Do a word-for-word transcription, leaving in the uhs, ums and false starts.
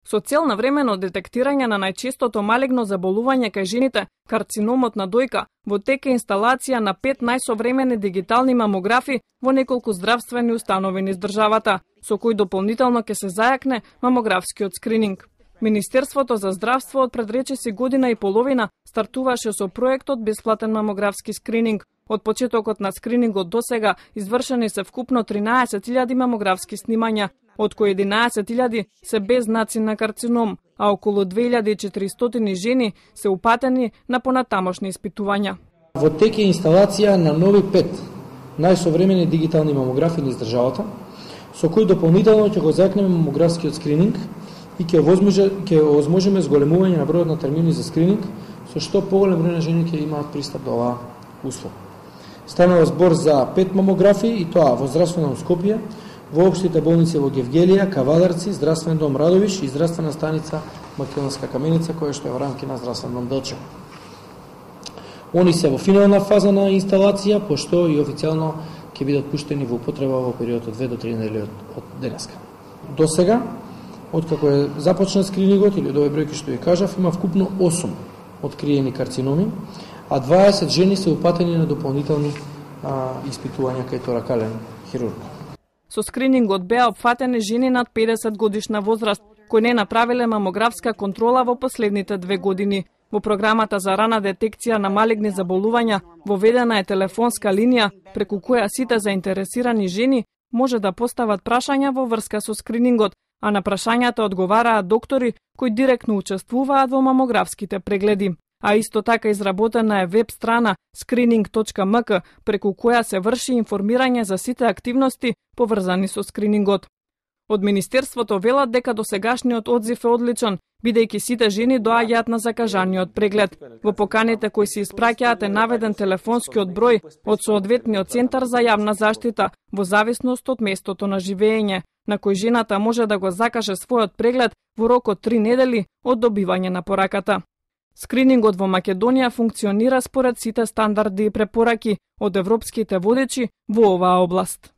Со цел на времено детектирање на најчестото малигно заболување кај жените, карциномот на дојка, во тек е инсталација на пет најсовремени дигитални мамографи во неколку здравствени установи низ државата, со кој дополнително ќе се зајакне мамографскиот скрининг. Министерството за здравство од пред речиси година и половина стартуваше со проектот бесплатен мамографски скрининг. Од почетокот на скринингот досега извршени се вкупно тринаесет илјади мамографски снимања, од кои единаесет илјади се без знаци на карцином, а околу две илјади и четиристотини жени се упатени на понатамошни испитувања. Во тек е инсталација на нови пет најсовремени дигитални мамографи низ државата, со кои дополнително ќе го зајакнеме мамографскиот скрининг и ќе возможи ќе возможиме зголемување на бројот на термини за скрининг, со што поголем број на жени ќе имаат пристап до оваа услуга. Станува збор за пет мамографи и тоа во здравствена Скопје, во општите болници во Гевгелија, Кавадарци, здравствен дом Радовиш и здравствена станица Македонска Каменица, која што е во рамки на здравствен дом Делчево. Они се во финална фаза на инсталација, пошто и официјално ќе бидат пуштени во употреба во период од две до три недели од денеска. До сега, откако е започнат скринингот, или од овој бројки што ви кажав, има вкупно осум откриени карциноми, а дваесет жени се упатени на дополнителни а, испитувања кај торакален хирург. Со скринингот беа опфатени жени над педесет годишна возраст, кои не направиле мамографска контрола во последните две години. Во програмата за рана детекција на малигни заболувања воведена е телефонска линија преку која сите заинтересирани жени може да постават прашања во врска со скринингот, а на прашањата одговараат доктори кои директно учествуваат во мамографските прегледи. А исто така изработена е веб страна скрининг точка ем ка преку која се врши информирање за сите активности поврзани со скринингот. Од Министерството велат дека досегашниот одзив е одличен, бидејќи сите жени доаѓаат на закажаниот преглед. Во поканите кои се испраќаат е наведен телефонскиот број од соодветниот центар за јавна заштита, во зависност од местото на живење, на кој жената може да го закаже својот преглед во рок од три недели од добивање на пораката. Скринингот во Македонија функционира според сите стандарди и препораки од европските водечи во оваа област.